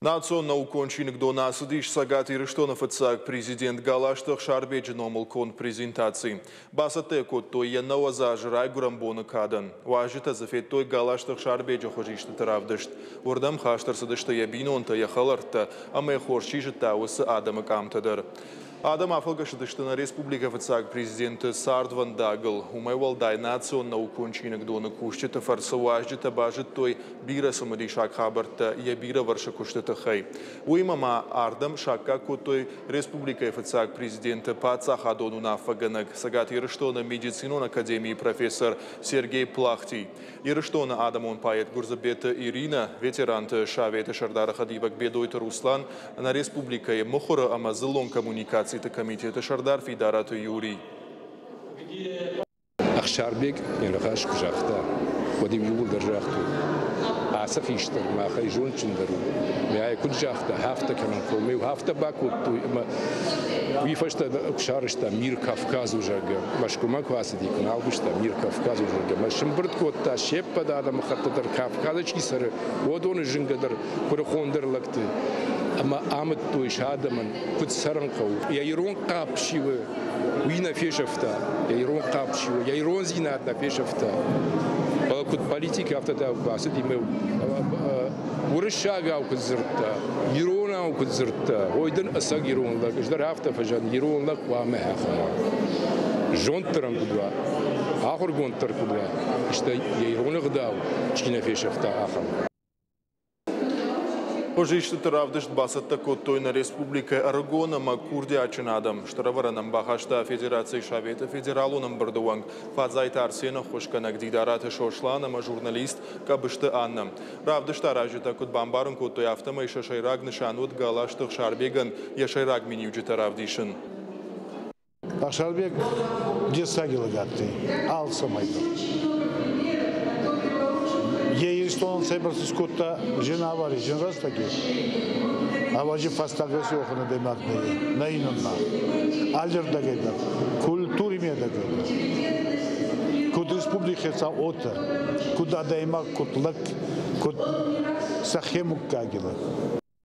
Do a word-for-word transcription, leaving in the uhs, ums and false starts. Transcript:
Национ наукон чиныгдоны ацыдис Цӕгат Ирыстоны фыццаг президент Галазты Ӕхсарбеджы номыл конд презентаци. Бацӕттӕ йӕ кодтой йӕ нӕуӕдз азы райгуырӕн боны кадӕн. Уазджытӕ дзы федтой Галазты Ӕхсарбеджы хуызистыты равдыст. Уырдӕм хаст ӕрцыдысты йӕ бинонтӕ, йӕ хӕлӕрттӕ ӕмӕ йӕ хорз чи зыдта, уыцы адӕмы къамтӕ дӕр. Адӕм афӕлгӕсыдысты нӕ республикӕйы фыццаг президенты цардвӕндагыл. Уымӕй уӕлдай национ наукон чиныгдоны кусджыты фӕрцы уазджытӕ базыдтой бирӕ цымыдисаг хабӕрттӕ йӕ бирӕвӕрсыг куысты тыххӕй. Уыимӕ ма ардӕм саккаг кодтой республикӕйы фыццаг президенты паддзахадон уынаффӕгӕнӕг, Цӕгат Ирыстоны медицинон академийы профессор Сергей Плахтий, Ирыстоны адӕмон поэт Гуырдзыбеты Иринӕ, ветеранты советы сӕрдары хӕдивӕг Бедойты Руслан, нӕ республикӕйы мыхуыры ӕмӕ дзыллон коммуникациты комитеты сӕрдар Фидараты Юрий. Ӕхсарбег йӕ ныхас куы загъта, уӕд-иу иууылдӕр загътой: ацы хистӕр махӕй зондджындӕр у. Мӕ куыд загъта, афтӕ кӕнын хъӕуы, мӕ афтӕ бакодтой ӕмӕ уый фӕстӕ куы сарӕзта Мир Кавказу, зӕгъгӕ, Мӕскуымӕ куы ацыди, куы нал куыста Мир Кавказу, зӕгъгӕ, мӕ сымбырд кодта се ппӕт адӕмыхӕтты дӕр, Кавказы чи цӕры, уыдоны зынгӕдӕр, куырыхондӕр лӕгты ӕмӕ амыдтой сӕ адӕмӕн, куыд цӕрын хъӕуы. Йӕ ирон хъапп чи у, уый нӕ фесӕфта, йӕ ирон хъапп чи у, йӕ ирондзинад нӕ фесӕфта. Фӕлӕ куыд политик, афтӕ та бацыди мӕ уырыссагау куыд дзырдта, иронау куыд дзырдта, ой дын ӕцӕг ирон лӕг, ӕз дӕр афтӕ фӕзӕгъын, ирон лӕг хъуамӕ ахӕм уа. Зонддӕр ӕм куыд уа, ахуыргонддӕр куыд уа, стӕй йӕ ирон ӕгъдау чи нӕ фесӕфта, ахӕм. Хуызистыты равдыст бацӕттӕ кодтой нӕ республикӕйы ӕрыгон ӕмӕ курдиатджын адӕм. Стыр ӕвӕрӕн ӕм бахаста Федерацийы Советы федералон ӕмбырды уӕнг Фадзайты Арсены ӕххуысгӕнӕг Дидараты Сослан ӕмӕ журналист Къӕбысты Аннӕ. Равдыст аразджытӕ куыд бамбарын кодтой, афтӕмӕй сӕ сӕйраг нысан уыд Галазты Ӕхсарбегӕн йӕ сӕйраг миниуджытӕ равдисын. Ӕхсарбег дессаги лӕг адтӕй алцӕмӕй дӕр. Йе Иристонӕн цӕйбӕрцӕ скодта зин авари, зин рӕстӕги, ӕвӕдзи фӕстаг еци уӕхӕн адӕймаг нӕ иннӕ. Аллирдӕгӕй дӕр, культури медӕгӕй дӕр. Куд республики хецау уотӕ, куд адӕймаг, куд лӕг, куд сӕхе муггаги лӕг.